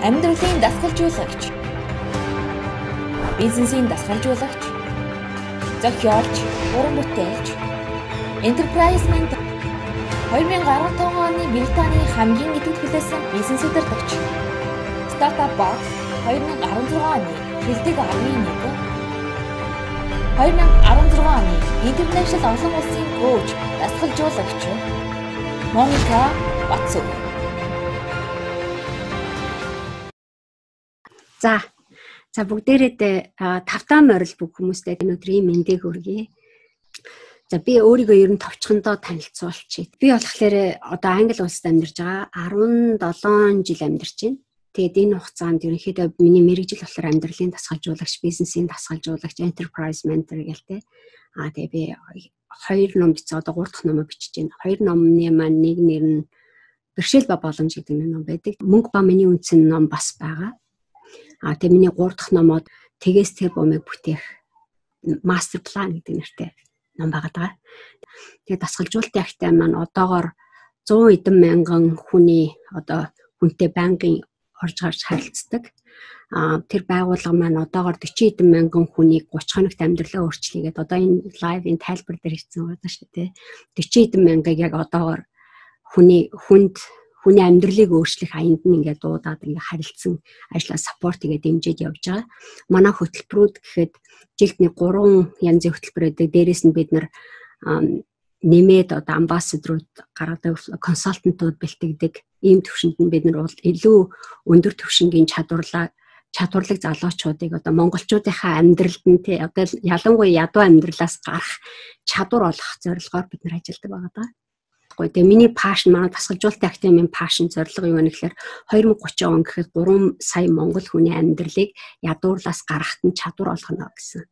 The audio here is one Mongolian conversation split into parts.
Амьдралын дасгалжуулагч, бизнесийн дасгалжуулагч, зохиолч, уран бүтээлч, Enterprise Mentor 2015 оны Британий хамгийн идэвхжүүлсэн бизнес удирдагч, Startup Box 2016 оны шилдэг 11, 2016 оны International олон улсын коуч, дасгалжуулагч Моника Батцов. За бүгдээрээ тавтаа морил бүх хүмүүстээ өнөөдрийн мэндийг хүргэе. За би өөрийгөө ер нь товчхондоо танилцуулчих. Би болохоор одоо Англи улсад амьдарч байгаа 17 жил амьдарч байна. Тэгээд энэ хугацаанд ерөнхийдөө миний мэргэжил болохоор амьдралын дасгалжуулагч, бизнесийн дасгалжуулагч, Enterprise Mentor гэлтэй. Тэгээд би 2 ном бичсэн, одоо 3 дахь номоо бичиж байна. 2 номны маань нэг нэр нь Бэрхшээл ба боломж гэдэг ном байдаг. Мөнгө ба миний үндсэн ном бас байгаа. Тэгээ миний 3 дахь номоод Тэгээс тэр бомыг бүтээх Master Plan гэдэг нэртэй ном байгаа. Тэгээ дасгалжуулалтын агтай маань одоогоор 100 эдэн мянган хүний хүнтэй байнгын орж гарч харилцдаг. Тэр байгууллага маань одоогоор 40 эдэн мянган хүнийг 30 хоногт амьдралаа өөрчлөгээд одоо энэ лайвын тайлбар дээр хийсэн байгаа шүү дээ. 40 эдэн мянгаыг яг одоогоор хүний амьдралыг өөрчлөх аянд нь ингээд дуудаад ингээд харилцсан ажлаа саппорт хийгээд дэмжиж явж байгаа. Манай хөтөлбөрүүд гэхэд жилд нэг 3 янзын хөтөлбөр байдаг. Дээрээс нь бид нар нэмээд амбассадорууд гаргадаг, консалтантууд бэлтгэдэг. Ийм төвшөнд нь бид нар илүү өндөр түвшингийн чадварлаг залуучуудыг монголчуудынхаа амьдралд нь ялангуяа ядуу амьдралаас гарах чадвар олох зорилгоор бид нар ажилладаг байгаа даа. Тэгээ миний пашн, манай дасгалжуулалтын академийн пашн зорилго юу вэ гэхээр 2030 он гэхэд 3 сая монгол хүний амьдралыг ядуурлаас гаргахад нь чадвар олгоно гэсэн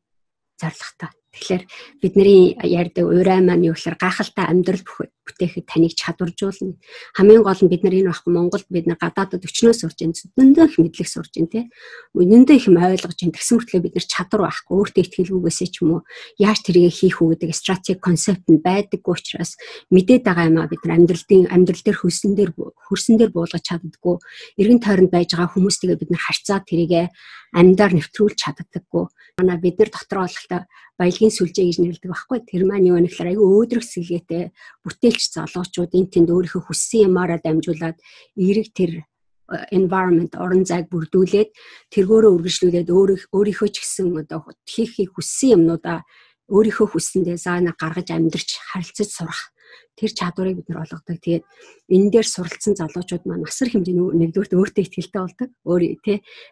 зорилготой. Тэгэхээр бидний ярьдаг урай маань юу гэхээр гайхалтай амьдрал бүтээхэд таныг чадваржуулна. Хамгийн гол нь бид нар энэ багхгүй Монголд бид нар гадаадд өчнөөс сурж байна. Зөндөө их мэдлэг сурж байна тий. Үнэндээ их юм ойлгож байна. Тэгсэн мөртлөө бид нар чадвар байхгүй. Өөртөө ихтгэлгүйгээсээ ч юм уу яаж тэрийг хийх үү гэдэг стратеги концепт нь байдаггүй учраас мэдээд байгаа юм а бид нар амьдрал дээр хөрсөн дээр буулгаж чаддаггүй. Эргэн тойронд байж байгаа хүмүүстэйгээ бид нар харьцаад тэрийг амьдаар нэвтрүүлж чаддаггүй. Манай бид нар дотор болохтой баялагын сүлжээ гэж нэрлэдэг байхгүй. Тэр маань юу вэ гэхээр аюу өөдрөг сэлгээтэй бүтээлч залуучууд энэ тэнд өөрийнхөө хүссэн юмараа дамжуулаад эерэг тэр environment орон зайг бүрдүүлээд тэргөөрөө үргэлжлүүлээд өөрийнхөө ч гэсэн хийхийг хүссэн юмнуудаа өөрийнхөө хүссэндээ заана гаргаж амьдарч харилцаж сурах тэр чадварыг бид нар олгодог. Тэгээд энэ дээр суралцсан залуучууд маань асар хэмжээний нэгдүгээр өөртөө ихтгэлтэй болдог.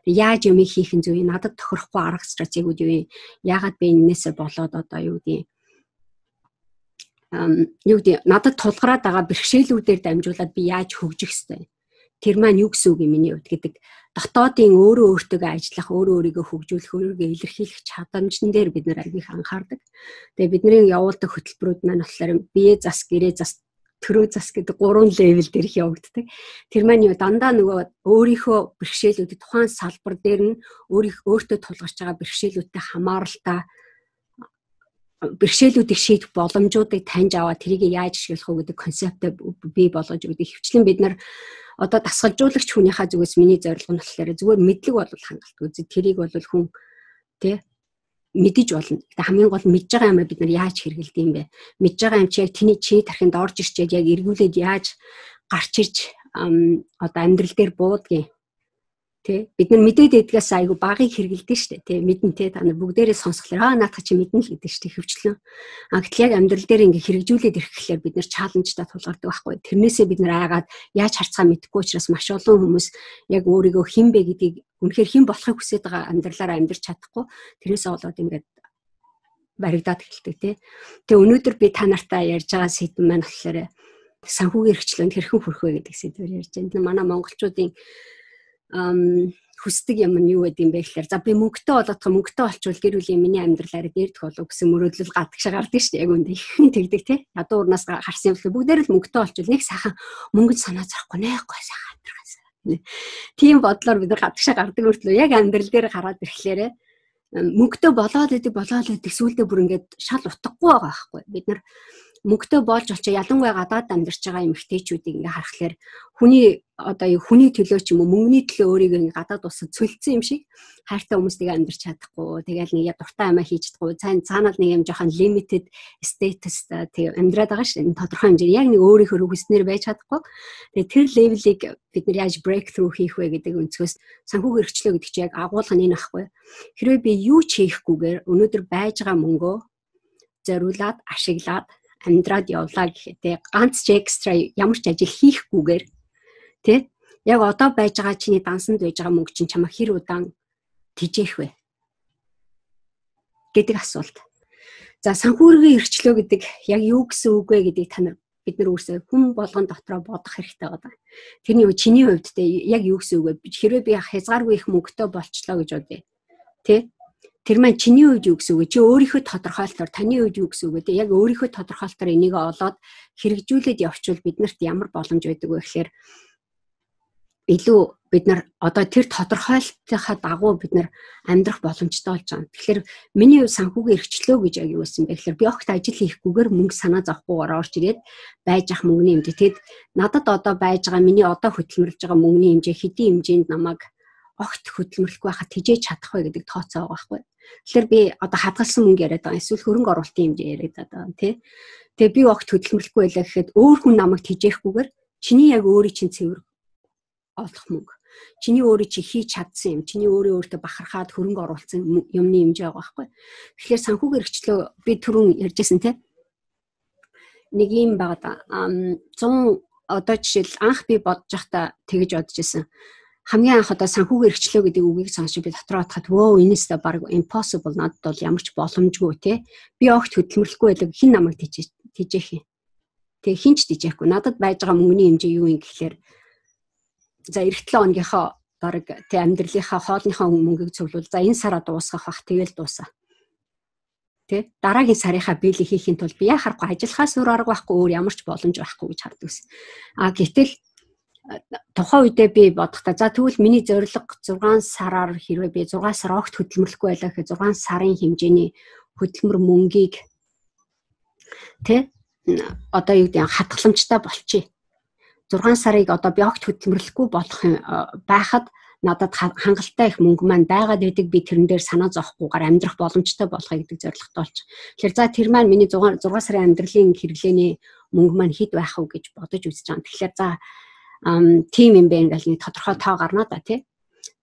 Яаж юм хийх нь зөв, надад тохирохгүй арга стратегиуд юу юм? Яагаад би энээсээ болоод надад тулгараад байгаа бэрхшээлүүдээр дамжуулаад би яаж хөгжих ёстой? Тэр маань юу гэсэн үг юм миний хувьд гэдэг дотоодын өөртөө ажиллах, өөрийгөө хөгжүүлэх, өөрийгөө илэрхийлэх чадамжн дээр бид нар аяг их анхаардаг. Тэгээ бидний явуулдаг хөтөлбөрүүд маань болохоор бие зас, гэрээ зас, төрөө зас гэдэг 3 левел дээр их явагддаг. Тэр маань дандаа нөгөө өөрийнхөө бэрхшээлүүдэд тухайн салбар дээр нь өөртөө тулгарч байгаа бэрхшээлүүдтэй хамааралтай бэрхшээлүүдийг шийдэх боломжуудыг таньж аваад тэрийг яаж ашиглах вэ гэдэг концептыг бий болгож өгдөг. Хвчлэн бид нар дасгалжуулагч хүнийхээ зүгээс миний зорилго нь болохоор зүгээр мэдлэг бол хангалтгүй. Тэрийг бол хүн мэдэж болно. Хамгийн гол мэдж байгаа юм бид нар яаж хэрэгэлдэг юм бэ? Мэдж байгаа юм чи яг чи тархинд орж ирчээд яг эргүүлээд яаж гарч ирж амьдрал дээр буудгийг бид нар мэдээд идгээс айгу багыг хэрэгэлдэг шүү дээ. Мэдэн та нар бүгдээрээ сонсхолоор наадах чи мэднэ л гэдэг шүү дээ хөвчлэн. Гэтэл яг амьдрал дээр ингээ хэрэгжүүлээд ирэхлээр бид нар чаленжтай тулгардаг байхгүй. Тэрнээсээ бид нар айгаад яаж харцгаа мэдэхгүй учраас маш олон хүмүүс яг өөрийгөө хэн бэ гэдгийг үнэхээр хэн болохыг хүсэж байгаа амьдралаараа амьдрч чадахгүй. Тэрнээсээ болоод ингээд баригдаад эхэлдэг. Тэгээ өнөөдөр би та нартай ярьж байгаа сэдв маань болохоор санхүүгийн эрхчлөөнд хэрхэн хүрэх вэ гэдэг сэдвээр ярьж байна. Манай монголчуудын хүсдэг юм нь юу гэдэг юм бэ гэхээр за би мөнгөтэй олчвол гэр бүлийн миний амьдралаараа дээрдэх болов гэсэн мөрөөдөл гадагшаа гардаг шүү дээ. Яг үндэ ихэн тэгдэг тий. Ядуу урнаас гарсан юм л бүгдээр л мөнгөтэй олчвол нэг сайхан мөнгөд санаа зовхгүй нэхгүй сайхан амьдрахаас. Тийм бодлоор бид нар гадагшаа гардаг мөртлөө яг амьдрал дээр гараад ирэхлээр мөнгөтэй болоод идэг сүүлдээ бүр ингээд шал утгагүй байгаа байхгүй. Бид нар мөнгөтэй болж олчоо ялангуяа гадаад амьдарч байгаа эмэгтэйчүүдийг ингээ харахаар хүний төлөө ч юм уу мөнгөний төлөө өөрийгөө ингээ гадаад усад цөлцсөн юм шиг хайртай хүмүүстэйгээ амьдарч чадахгүй. Тэгэл нэг дуртай амиа хийж чадахгүй. Цаанал нэг юм жоохон limited status тэг амьдраад байгаа шүү. Энэ тодорхой хэмжээ яг нэг өөрийнхөө хүснээр байж чадахгүй. Тэгээ тэр левелийг бид нар яаж breakthrough хийх вэ гэдэг өнцгөөс санхүүгийн эрхчлөө гэдэг чинь яг агуулга нь энэ ахгүй. Хэрвээ би юу ч хийхгүйгээр өнөөдөр байж байгаа мөнгөө зориулаад ашиглаад амьдраад явлаа гэхэд ганц ч экстра ямар ч ажил хийхгүйгээр тий яг одоо байж байгаа чиний дансанд байж байгаа мөнгө чинь чамаа хэр удаан тижээх вэ гэдэг асуулт. За санхүүгийн эрхчлөө гэдэг яг юу гэсэн үг вэ гэдгийг бид нар өөрсдөө хүн болгон дотроо бодох хэрэгтэй байгаа. Тэрний чиний хувьд яг юу гэсэн үг вэ? Хэрвээ би хязгааргүй их мөнгөтэй болчлоо гэж бодъё. Тий? Тэр маань чиний хувьд юу гэсэн үг вэ? Чи өөрийнхөө тодорхойлолтоор таны хувьд юу гэсэн үг вэ? Яг өөрийнхөө тодорхойлолтоор энийг олоод хэрэгжүүлээд явуучвал биднэрт ямар боломж байдаг вэ гэхээр илүү бид нар одоо тэр тодорхойлолтынхаа дагуу бид нар амьдрах боломжтой болж байгаа. Тэгэхээр миний санхүүгийн эрхчлөө гэж яг юу гэсэн бэ гэхээр би огт ажил хийхгүйгээр мөнгө санаа зовхгүйгээр орж ирээд байж ах мөнгөний хэмжээ. Тэгэд надад одоо байж байгаа миний одоо хөдөлмөрлж байгаа мөнгөний хэмжээ хэдийн хэмжээнд намайг огт хөдөлмөрлөхгүй байхад тижээж чадах вэ гэдэг тооцоо байгаа байхгүй. Тэгэхээр би одоо хадгалсан мөнгө яриад байгаа. Эсвэл хөрөнгө оруулалтын хэмжээ яриад байгаа тий. Тэгээ би огт хөдөлмөрлөхгүй байлаа гэхэд өөр хүн намайг тижээхгүйгээр чиний яг өөрийн чинь цэвэр олох мөнгө. Чиний өөрөө чи хийж чадсан юм. Чиний өөртөө бахархаад хөрөнгө оруулсан юмны хэмжээ байгаа байхгүй. Тэгэхээр санхүүгийн эрхчлөө би түрүүн ярьжсэн тий. Нэг юм байгаа. 100 одоо жишээл анх би бодож байхдаа тэгэж бодож исэн. Хамгийн анх одоо санхүүгийн эрхчлөө гэдэг үгийг сонсч би дотроо бодоход вөө энэс та баг impossible надад бол ямар ч боломжгүй тий. Би огт хөдөлмөрлөхгүй байлаа хин намайг тижээх юм. Тэгээ хинч тижээхгүй. Надад байж байгаа мөнгөний хэмжээ юу юм гэхээр за эх 7 хоногийнхоо баг тий амьдралынхаа хоолныхаа мөнгийг цуглуул. За энэ сараа дуусгах бах тэгэл дуусаа. Тэ дараагийн сарынхаа биелийг хийхин тулд би яхахгүй ажиллахаас өөр арга байхгүй өөр ямар ч боломж байхгүй гэж харддаг ус. Гэтэл тухайн үедээ би бодохдоо за тэгвэл миний зорилго 6 сараар хэрвээ би 6 сар огт хөдөлмөрлөхгүй байлаа гэхэд 6 сарын хэмжээний хөдөлмөр мөнгийг тэ одоо юу гэдэг хадгаламжтай болчих. 6 сарыг одоо би огт хөдөлмөрлөхгүй болох байхад надад хангалттай их мөнгө маань байгаад байдаг би тэрэн дээр санаа зовхгүйгээр амьдрах боломжтой болохыг гэдэг зорилготой болж. Тэгэхээр за тэр маань миний 6 сарын амьдралын хэрэглээний мөнгө маань хэд байх вэ гэж бодож үзэж байгаа. Тэгэхээр за тим юм бэ ингээл нэг тодорхой тоо гарна да тий.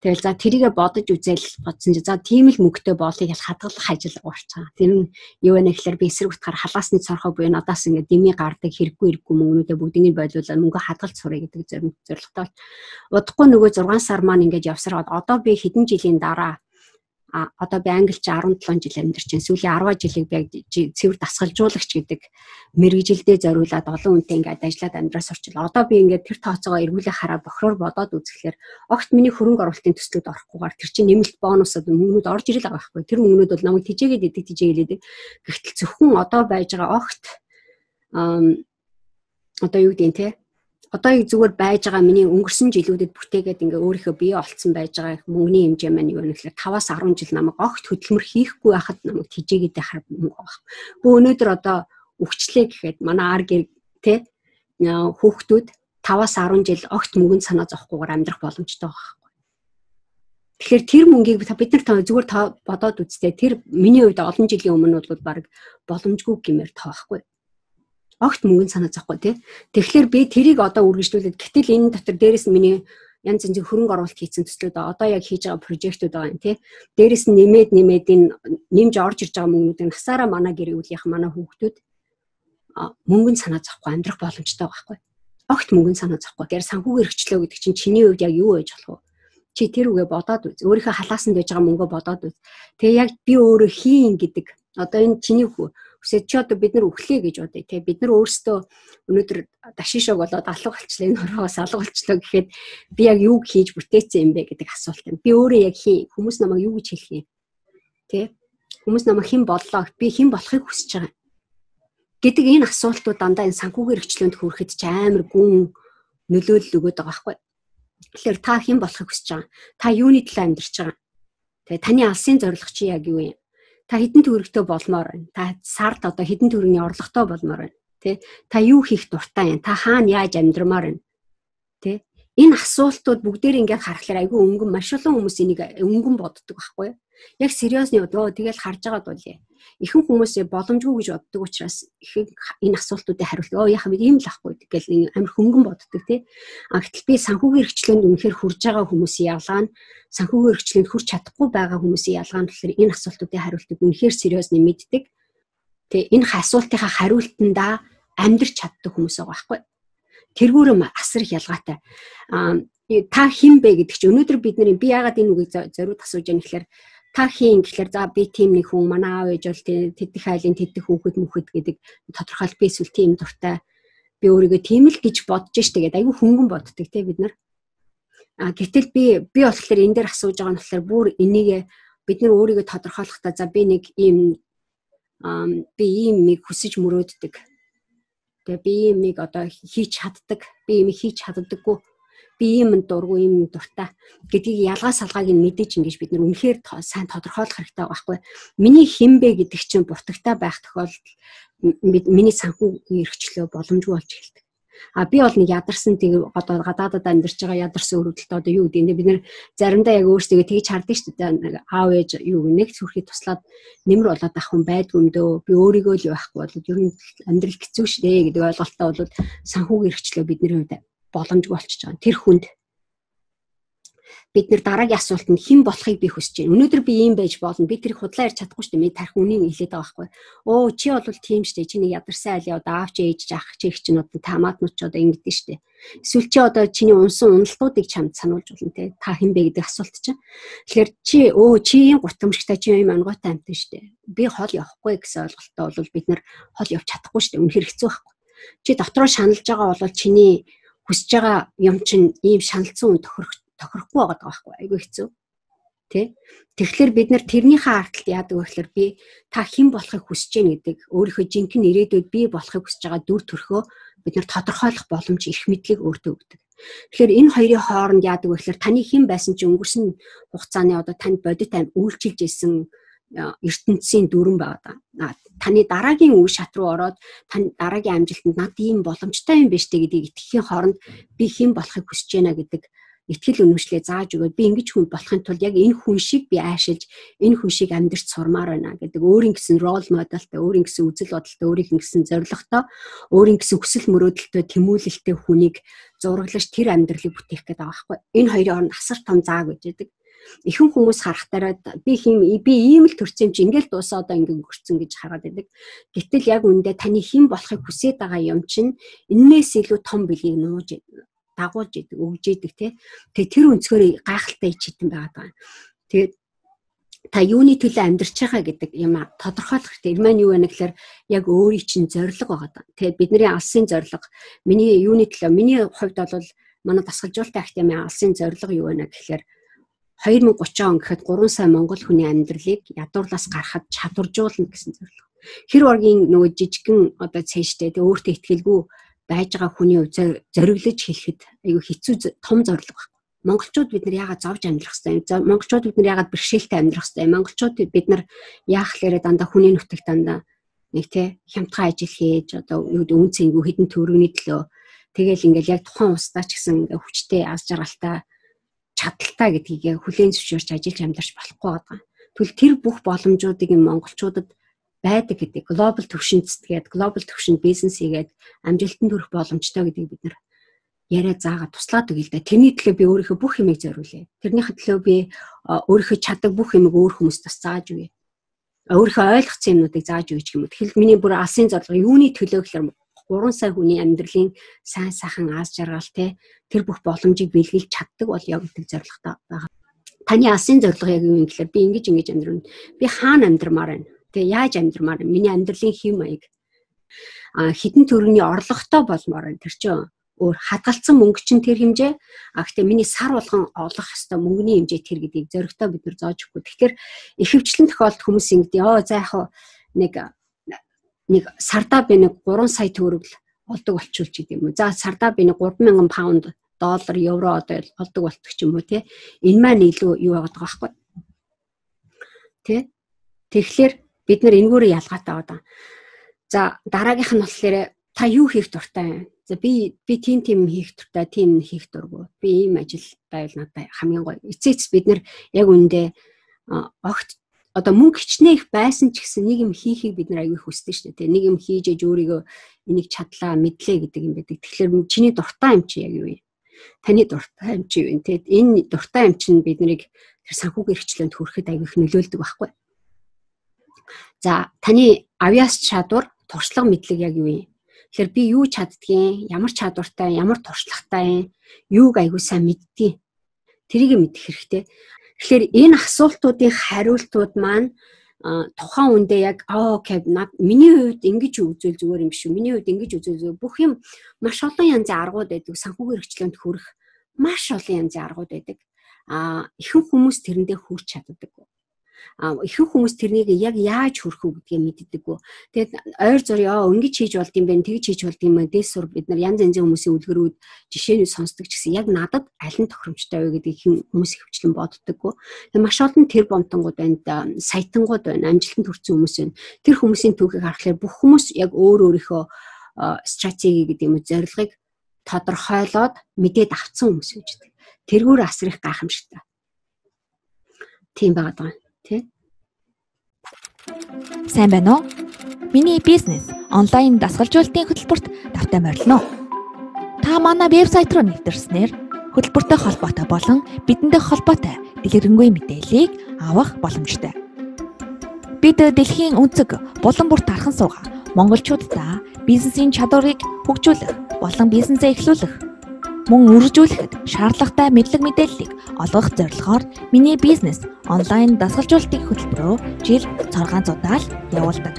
Тэгэл за тэрийгэ бодож үзэл бодсон чи за тийм л мөнгөтэй боолыг ял хадгалах ажил уурчаа. Тэр нь юу вэ гэхээр би эсрэг утгаар халаасны цорхоо буюу надаас ингээд дими гардаг хэрэггүй мөнгнүүдээ бүгднийг бойлуулаад мөнгө хадгалж сурах гэдэг зорилготой. Удахгүй нөгөө 6 сар маань ингээд явсараад одоо би хэдэн жилийн дараа одоо би англич 17 жил амьдарч байна. Сүүлийн 10 жилийг би цэвэр дасгалжуулагч гэдэг мэргэжилдээ зориулаад олон хүнтэй ингээд ажиллаад амьдраас орчлоо. Одоо би ингээд тэр тооцоогоо эргүүлээ хараад бохроор бодоод үзэхлээр огт миний хөрөнгө оруулалтын төслүүд орохгүйгээр тэр чинь нэмэлт бонусод мөнгнүүд орж ирэл байгаа байхгүй. Тэр мөнгнүүд бол намайг тижээгээд идэг. Гэхдээ зөвхөн одоо байж байгаа огт одоо юу гэдэг те одоо зүгээр байж байгаа миний өнгөрсөн жилүүдэд бүтээгээд ингээ өөрийнхөө бие олцсон байж байгаа мөнгөний хэмжээ маань юу вэ гэхээр 5-10 жил намайг огт хөдөлмөр хийхгүй байхад намайг тижээгээд харах мөнгө байгаа. Бөө өнөөдөр одоо өвчлээ гэхэд манай ар гэр те хүүхдүүд 5-10 жил огт мөнгөнд санаа зовхгүйгээр амьдрах боломжтой байгаа. Тэгэхээр тэр мөнгийг бид нар зүгээр бодоод үзтээ тэр миний хувьд олон жилийн өмнө бол баг боломжгүй гэмээр тоохгүй. Огт мөнгөнд санаа зовхгүй тий. Тэгэхээр би тэрийг одоо үргэлжлүүлээд гэтэл энэ дотор дээрэс нь миний янз янзын хөрөнгө оруулалт хийсэн төслүүд одоо яг хийж байгаа прожектууд байгаа юм тий. Дээрэс нь нэмээд энэ нэмж орж ирж байгаа мөнгнүүдийн насаараа манай гэр бүлийнх манай хүүхдүүд мөнгөнд санаа зовхгүй амьдрах боломжтой байхгүй. Огт мөнгөнд санаа зовхгүй. Гэвч санхүүгийн эрхчлөө гэдэг чинь чиний хувьд яг юу байж болох вэ? Чи тэр үгээ бодоод үз. Өөрийнхөө халаасанд байж байгаа мөнгөө бодоод үз. Тэгээ яг би өөрөө хийн гэдэг. Одоо энэ чиний үсэд чи одоо бид нар өглөө гэж бодъё те. Бид нар өөрсдөө өнөөдөр дашишог болоод алга болчлаа энэ хорвоос алга болчлоо гэхэд би яг юу хийж бүтээсэн юм бэ гэдэг асуулт юм. Би өөрөө яг хийн. Хүмүүс намайг юу гэж хэлэх юм? Тэ? Хүмүүс намайг хэн боллоо? Би хэн болохыг хүсэж байгаа гэдэг энэ асуултууд дандаа энэ санхүүгийн эрхчлөөнд хүрэхэд ч амар гүн нөлөөлөл өгöd байгаа байхгүй. Тэгэхээр та хэн болохыг хүсэж байгаа? Та юуны төлөө амьдарч байгаа? Тэгээ таны алсын зорилго чи яг юу юм? Та хэдэн төгрөгтэй болмоор байна? Та сард одоо хэдэн төгрөгийн орлоготой болмоор байна? Тэ та юу хийх дуртай юм? Та хаана яаж амьдрмаар байна? Тэ энэ асуултууд бүгдээр ингээд харахаар айгүй өнгөн маш олон хүмүүс энийг өнгөн боддог байхгүй юу? Яг сериосны тэгэл харж байгаад болъё. Ихэнх хүмүүс боломжгүй гэж боддог учраас ихэнх энэ асуултуудыг хариулт яах вэ? Ийм л ахгүй гэл амар хөнгөн боддог тий. Гэтэл би санхүүгийн хэрэгчлээнд үнэхээр хүрж байгаа хүмүүсийн ялгаа нь санхүүгийн хэрэгчлээнд хүрч чадахгүй байгаа хүмүүсийн ялгаа нь болохоор энэ асуултуудыг хариултыг үнэхээр сериосны мэддэг. Тэгээ энэ асуултынхаа хариултандаа амьдрч чаддаг хүмүүс байгаа байхгүй. Тэргүүрээ асар их ялгаатай. Та хэн бэ гэдэг чинь өнөөдөр би яагаад энэ үгийг зориуд асууж яах гэхээр та хийн гэхээр за би тийм нэг хүн манай аав ээж бол тэдэх айлын тэдэх хүүхэд мөхөд гэдэг тодорхойлт би эсвэл тийм дуртай би өөрийгөө тийм л гэж бодож штэ гэдэг айгүй хөнгөн боддог те бид нар. Гэтэл би болохоор энэ дээр асууж байгаа нь болохоор бүр энийг бид нар өөрийгөө тодорхойлохдоо за би нэг ийм хүсэж мөрөөддөг. Тэгээ би иймийг одоо хийж чаддаг, би иймийг хийж чаддаггүй. Би ийм дургүй, ийм дуртай гэдгийг ялгаа салгааг нь мэдээж ингэж бид нар үнэхээр сайн тодорхойлох хэрэгтэй байгаа байхгүй. Миний хинбэ гэдэг чинь буртагтай байх тохиолдолд миний санхүү эрхчлөө боломжгүй болж эхэлдэг. Би бол нэг ядарсан тэгээ одоо гадаадад амьдарч байгаа ядарсан өрөвдөлтөд одоо юу гэдэг бид нар заримдаа яг өөрсдөө тэгж харддаг шүү дээ. Аав ээж юу нэг зүрхий туслаад нэмэр болоод ах хүн байдгүй юм дөө. Би өөрийгөө л байхгүй бол ер нь амьдрал хэцүү шүү дээ гэдэг ойлголттой бол санхүүгийн эрхчлөө бидний хувьд боломжгүй болчихж байгаа. Тэр хүнд бид нар дараагийн асуултанд хэн болохыг би хүсэж байна. Өнөөдөр би ийм байж болно. Би тэрийг худлаа ярьж чадахгүй шүү дээ. Миний тарих үнийг хэлээд байгаа байхгүй. Чи бол тийм шүү дээ. Чиний ядарсан айлын одоо аав чи ээж ах чи их чинь одоо таамаатнууд ч одоо ингэдэж шүү дээ. Эсвэл чи одоо чиний унсан уналтуудыг чамд сануулж болно те. Та хэн бэ гэдэг асуулт чинь. Тэгэхээр чи ийм гутамжтай чи ийм онгойтой амтан шүү дээ. Би хол явахгүй гэсэн ойлголттой бол бид нар хол явж чадахгүй шүү дээ. Үнэхээр хэцүү байхгүй. Чи дотроо шаналж байгаа бол чиний хүсэж байгаа юм чинь ийм шаналцсан үн тохирохгүй байгаа байхгүй айгүй хэцүү тий. Тэгэхээр бид нар тэрнийхээ ардталд яадаг вэ гэхээр би та хэн болохыг хүсэж байна гэдэг өөрийнхөө жинхэнэ ирээдүйд би болохыг хүсэж байгаа дүр төрхөө бид нар тодорхойлох боломж эрх мэдлийг өөртөө өгдөг. Тэгэхээр энэ хоёрын хооронд яадаг вэ гэхээр таны хэн байсан ч өнгөрсөн хугацааны одоо танд бодит үйлчилж исэн ертөнцийн дүрэн байгаа даа. Таны дараагийн үе шат руу ороод таны дараагийн амжилтанд над ийм боломжтой юм биш үү гэдгийг итгэхийн хооронд би хэн болохыг хүсэж байна гэдэг итгэл үнэмшлээ зааж өгөөд би ингэж хүн болохын тулд яг энэ хүн шиг би аашилж энэ хүн шиг амьдрч сурмаар байна гэдэг өөрийн гэсэн рол модельтэй, өөрийн гэсэн үзэл бодолтой, өөрийн гэсэн зорилготой, өөрийн гэсэн хүсэл мөрөөдөлтөй тэмүүлэлтэй хүнийг зураглаж тэр амьдралыг бүтээх гэдэг байгаа байхгүй. Энэ хоёрын хооронд асар том зааг гэж байдаг. Ихэнх хүмүүс харахтаараа би ийм л төрсөн юм чи ингээл дуусаа одоо ингэ өнгөрцөн гэж хараад байдаг. Гэтэл яг үндэ таны хэн болохыг хүсээд байгаа юм чинь энээс илүү том билгийг нууж дагуулж идэг, өгж идэг тий. Тэгээ тэр өнцгөр гайхалтай ичитэн байгаа. Тэгээд та юуны төлөө амьдарч байгаа гэдэг юм тодорхойлох хэрэгтэй. Энэ маань юу вэ гэхээр яг өөрийн чинь зорилго байгаа. Тэгээд бидний алсын зорилго миний юуны төлөө миний хувьд бол манай дасгалжуулалтын академийн алсын зорилго юу вэ гэхээр 2030 он гэхэд 3 сая монгол хүний амьдралыг ядуурлаас гаргахад чадваржуулна гэсэн зорилго. Хэр оргийн нөгөө жижигхэн одоо цэжтэй тэг өөртөө ихтгэлгүй байж байгаа хүний хувьд зориглож хэлэхэд айгүй хэцүү том зорилго байна. Монголчууд бид нар яагаад зовж амьдрах хэвээр? Монголчууд бид нар яагаад бэрхшээлтэй амьдрах хэвээр? Монголчууд бид нар яах хэлээрээ дандаа хүний нутагт дандаа нэг тий хямдхан ажил хийж одоо үн цэнгүй хэдэн төгрөгийн төлөө тэгэл ингээл яг тухайн устдаа ч гэсэн ингээ хүчтэй аз жаргалтай чадaltaа гэдгийг хүлээн зөвшөөрч ажиллаж амьдарч болохгүй байгаа. Тэгвэл тэр бүх боломжуудыг монголчуудад байдаг гэдэг глобал төвшинт гэдэг глобал төвшинт бизнес хийгээд амжилтанд хүрэх боломжтой гэдгийг бид нар яриа заагаад туслаад өгье л да. Тэрний төлөө би өөрийнхөө бүх юмыг зориулъя. Тэрнийхээ төлөө би өөрийнхөө чаддаг бүх юмыг өөр хүмүүст бас зааж өгье. Өөрийнхөө ойлгоцсон юмнуудыг зааж өгье гэх юм. Тэгэхээр миний бүр алсын зорилго юуны төлөө гэхээр 3 сая хүний амьдралын сайн сайхан аз жаргал тэр бүх боломжийг бэлгэлж чаддаг бол яг гэдэг зорилготой байгаа. Таны алсын зорилго яг юу юм гэхээр би ингэж амьдрна. Би хаана амьдрмаар байна? Яаж амьдрмаар байна? Миний амьдралын хэм маяг хідэн төрөний орлоготой болмоор байна. Тэр чинь өөр хадгалсан мөнгө чинь тэр хэмжээ. Гэхдээ миний сар болгон олох ёстой мөнгөний хэмжээ тэр гэдгийг зоригтой бид нар зааж өгөхгүй. Тэгэхээр ихэвчлэн тохиолдолд хүмүүс ингэдэг. За яг нэг сардаа би нэг 3 сая төгрөг олдог болчихвол ч гэдэг юм уу. За сардаа би нэг 3,000 паунд, доллар, евро одоо олдог болдог ч юм уу тий. Энэ маань илүү юу байгаа байхгүй. Тий. Тэгэхээр бид нар энэгээр ялгаатай байгаа. За дараагийнх нь болохоор та юу хийх дуртай вэ? За би тийм хийх дуртай, тийм хийх дурггүй. Би ийм ажил байвал надад хамгийн гоё. Эцээц бид нар яг үндэ огт одоо мөнгө хичнээх байсан ч гэсэн нэг юм хийхийг бид нар аягүй хүсдэг шүү дээ. Нэг юм хийж ээж өөрийгөө энийг чадлаа, мэдлээ гэдэг юм байдаг. Тэгэхээр чиний дуртай юм чи яг юу вэ? Таны дуртай юм чи юу вэ? Тэгэд энэ дуртай юм чинь биднийг тэр санхүүгийн хэрэгчлээнд хүрэхэд аягүй их нөлөөлдөг байхгүй. За таны авьяас чадвар, туршлага мэдлэг яг юу вэ? Тэгэхээр би юу чаддгийг, ямар чадвартай, ямар туршлагатай, юуг аягүй сайн мэддэг. Тэрийг мэдэх хэрэгтэй. Тэгэхээр энэ асуултуудын хариултууд маань тухайн үндэ яг окей миний хувьд ингэж үзвэл зүгээр юм шүү. Миний хувьд ингэж үзвэл зүгээр. Бүх юм маш олон янзын аргууд байдаг. Санхүүгийн хэрэгчлээнд хүрэх маш олон янзын аргууд байдаг. Ихэнх хүмүүс тэрэндээ хүрч чаддаг. Ихэнх хүмүүс тэрнийг яг яаж хүрэх үү гэдгийг мэддэггүй. Тэгээд ойр зурьяа ингэж хийж болд юм бэ, тэгж хийж болд юм бэ. Дээсүр бид нар янз янзын хүмүүсийн үлгэрүүд жишээний сонсдог ч гэсэн яг надад аль нь тохиромжтой вэ гэдгийг хүмүүс хөвчлэн боддоггүй. Тэгээд маш олон тэр бомтонгууд байна, саятангууд байна, амжилтанд хүрсэн хүмүүс байна. Тэр хүмүүсийн түүхийг харахаар бүх хүмүүс яг өөрийнхөө стратеги гэдэг юм уу зорилгыг тодорхойлоод мэдээд авсан хүмүүс гэж байна. Тэргүүр асрах гайхамшигтай. Тийм байгаа даа. Тэ? Сайн байна уу? Миний бизнес онлайн дасгалжуулалтын хөтөлбөрт давтан морилно. Та манай вебсайт руу нэвтэрснээр хөтөлбөртэй холбоотой болон бидэндээ холбоотой дэлгэрэнгүй мэдээллийг авах боломжтой. Бид дэлхийн өнцөг булан бүр тархан суугаа монголчуудаа бизнесийн чадварыг хөгжүүлэх болон бизнесээ эхлүүлэх мөн үргэлжлүүлэхэд шаардлагатай мэдлэг мэдээллийг олгох зорилгоор миний бизнес онлайн дасгалжуулалтын хөтөлбөрөөр жил 600 удаа явуулдаг.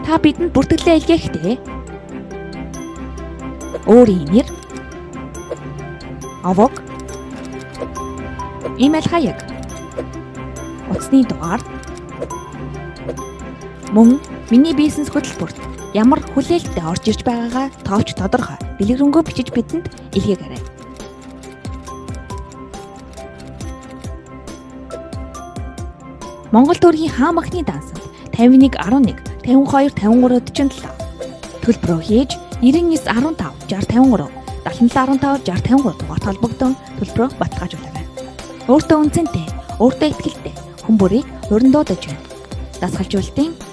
Та бидэнд бүртгэлээ илгээхдээ өөрийн нэр, авог, имэйл хаяг, утасны дугаар мөн миний бизнес хөтөлбөрт ямар хүлээлттэй орж ирж байгаагаа тоовч тодорхой дэлгэрэнгүй бичиж бидэнд илгээгээрэй. Монгол төрийн хаан махны дансанд 51 11 52 53 47 төлбөрөө хийж 99 15 60 53 77 15 60 53 дугаард холбогдсон төлбөрөө баталгаажуулаарай. Өөртөө үнцэнтэй, өөртөө ихтэй хүн бүрийг уран дуудаж байна. Дасгалжуулалтын